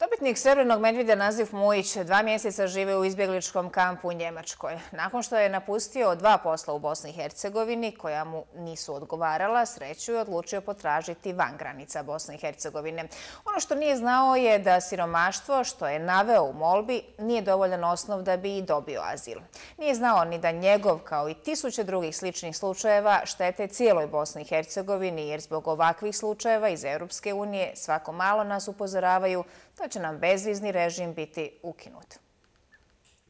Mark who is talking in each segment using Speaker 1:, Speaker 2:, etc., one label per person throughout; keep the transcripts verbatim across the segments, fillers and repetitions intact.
Speaker 1: Dobitnik srebrnog medvjeda Nazif Mujić dva mjeseca žive u izbjegličkom kampu u Njemačkoj. Nakon što je napustio dva posla u Bosni i Hercegovini koja mu nisu odgovarala, sreću je odlučio potražiti van granica Bosne i Hercegovine. Ono što nije znao je da siromaštvo što je naveo u molbi nije dovoljan osnov da bi i dobio azil. Nije znao ni da njegov, kao i tisuće drugih sličnih slučajeva, štete cijeloj Bosni i Hercegovini, jer zbog ovakvih slučajeva iz Europske unije svako malo nas upozoravaju da će nam bezvizni režim biti ukinut.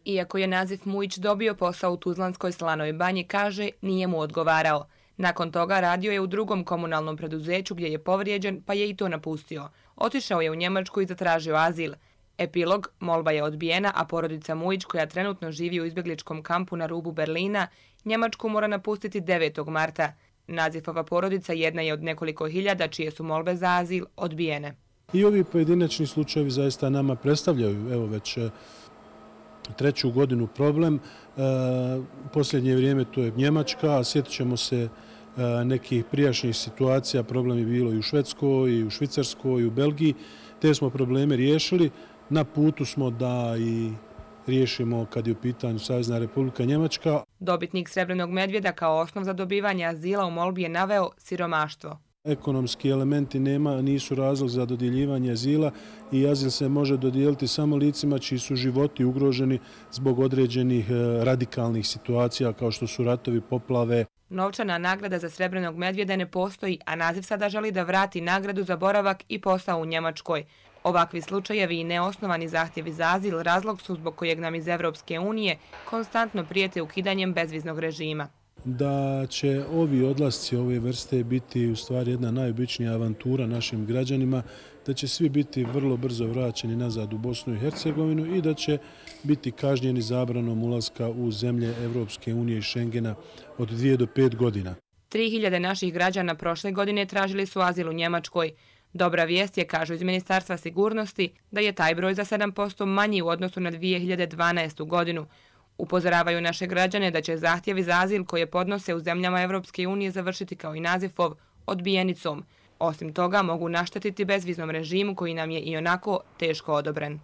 Speaker 2: Iako je Nazif Mujić dobio posao u Tuzlanskoj Slanoj banji, kaže, nije mu odgovarao. Nakon toga radio je u drugom komunalnom preduzeću gdje je povrijeđen, pa je i to napustio. Otišao je u Njemačku i zatražio azil. Epilog, molba je odbijena, a porodica Mujić, koja trenutno živi u izbjegličkom kampu na rubu Berlina, Njemačku mora napustiti devetog marta. Nazifova porodica jedna je od nekoliko hiljada čije su molbe za azil odbijene.
Speaker 3: I ovi pojedinačni slučajevi zaista nama predstavljaju, evo već treću godinu problem. U posljednje vrijeme to je Njemačka, a sjetit ćemo se nekih prijašnjih situacija, problem je bilo i u Švedskoj, i u Švicarskoj, i u Belgiji. Te smo probleme riješili. Na putu smo da i riješimo kad je u pitanju Savezna Republika Njemačka.
Speaker 2: Dobitnik srebrnog medvjeda kao osnov za dobivanje azila u molbi je naveo siromaštvo.
Speaker 3: Ekonomski elementi nema, nisu razlog za dodjeljivanje azila i azil se može dodijeliti samo licima čiji su životi ugroženi zbog određenih radikalnih situacija kao što su ratovi, poplave.
Speaker 2: Novčana nagrada za srebrnog medvjeda ne postoji, a Nazif sada želi da vrati nagradu za boravak i posao u Njemačkoj. Ovakvi slučajevi i neosnovani zahtjevi za azil razlog su zbog kojeg nam iz Evropske unije konstantno prijete ukidanjem bezviznog režima.
Speaker 3: Da će ovi odlasci ove vrste biti u stvari jedna najobičnija avantura našim građanima, da će svi biti vrlo brzo vraćeni nazad u Bosnu i Hercegovinu i da će biti kažnjeni zabranom ulaska u zemlje Evropske unije i Schengena od dvije do pet godina.
Speaker 2: Tri hiljade naših građana prošle godine tražili su azil u Njemačkoj. Dobra vijest je, kažu iz Ministarstva sigurnosti, da je taj broj za sedam posto manji u odnosu na dvije hiljade dvanaestu. godinu. Upozoravaju naše građane da će zahtjevi za azil koje podnose u zemljama Evropske unije završiti kao i Nazifov odbijenicom. Osim toga, mogu naštetiti bezviznom režimu koji nam je i onako teško odobren.